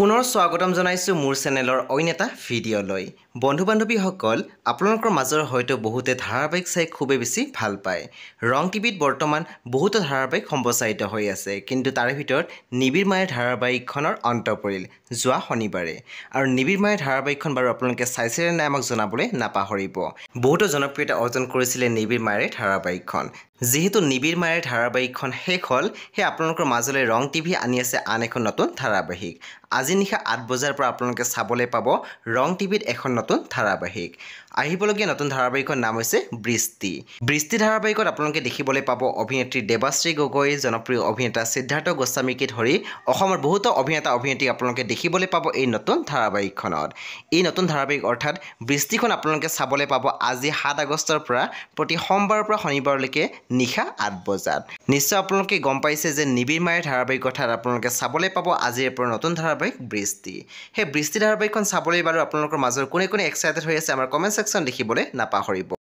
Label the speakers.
Speaker 1: পুনৰ স্বাগতম জনাইছোঁ মোৰ চেনেলৰ অইন এটা ভিডিঅ'লৈ। বন্ধু বান্ধৱীসকল, আপোনালোকৰ মাজৰ হয়তো বহুতে ধাৰাবাহিক চাই খুবেই বেছি ভাল পায়। ৰং টিভিত বৰ্তমান বহুতো ধাৰাবাহিক সম্প্ৰচাৰিত হৈ আছে, কিন্তু তাৰে ভিতৰত নিবিড় মায়াৰ ধাৰাবাহিকখনৰ অন্ত পৰিল যোৱা শনিবাৰে। আৰু নিবিড় মায়াৰ ধাৰাবাহিকখন বাৰু আপোনালোকে চাইছিলে নাই আমাক জনাবলৈ নাপাহৰিব। বহুতো জনপ্ৰিয়তা অৰ্জন কৰিছিলে নিবিড় মায়াৰ ধাৰাবাহিকখন। যিহেতু নিবিড় মায়াৰ ধাৰাবাহিকখন শেষ হ'ল, সেই আপোনালোকৰ মাজলৈ ৰং টিভি আনি আছে আন এখন নতুন ধাৰাবাহিক। আজি নিশা 8 বজাৰ পৰা আপোনালোকে চাবলৈ পাব ৰং টিভিত এখন নতুন ধাৰাবাহিক। আহিবলগীয়া নতুন ধাৰাবাহিকৰ নাম হৈছে বৃষ্টি। বৃষ্টি ধাৰাবাহিকত আপোনালোকে দেখিবলৈ পাব অভিনেত্ৰী দেৱাশ্ৰী গগৈ, জনপ্ৰিয় অভিনেতা সিদ্ধাৰ্থ গোস্বামীকে ধৰি অসমৰ বহুতো অভিনেতা অভিনেত্ৰীক আপোনালোকে দেখিবলৈ পাব এই নতুন ধাৰাবাহিকখনত। এই নতুন ধাৰাবাহিক অৰ্থাৎ বৃষ্টিখন আপোনালোকে চাবলৈ পাব আজি 7 আগষ্টৰ পৰা প্ৰতি সোমবাৰৰ পৰা শনিবাৰলৈকে নিশা 8 বজাত। নিশ্চয় আপোনালোকে গম পাইছে যে নিবিড় মায়াৰ ধাৰাবাহিক অৰ্থাৎ আপোনালোকে চাবলৈ পাব আজিৰ পৰা নতুন ধাৰাবাহিক বৃষ্টি। সেই বৃষ্টি ধাৰাবাহিকখন চাবলৈ বাৰু আপোনালোকৰ মাজৰ কোনে কোনে এক্সাইটেড হৈ আছে আমাৰ কমেণ্ট ছেকশ্যন লিখিবলৈ নাপাহৰিব।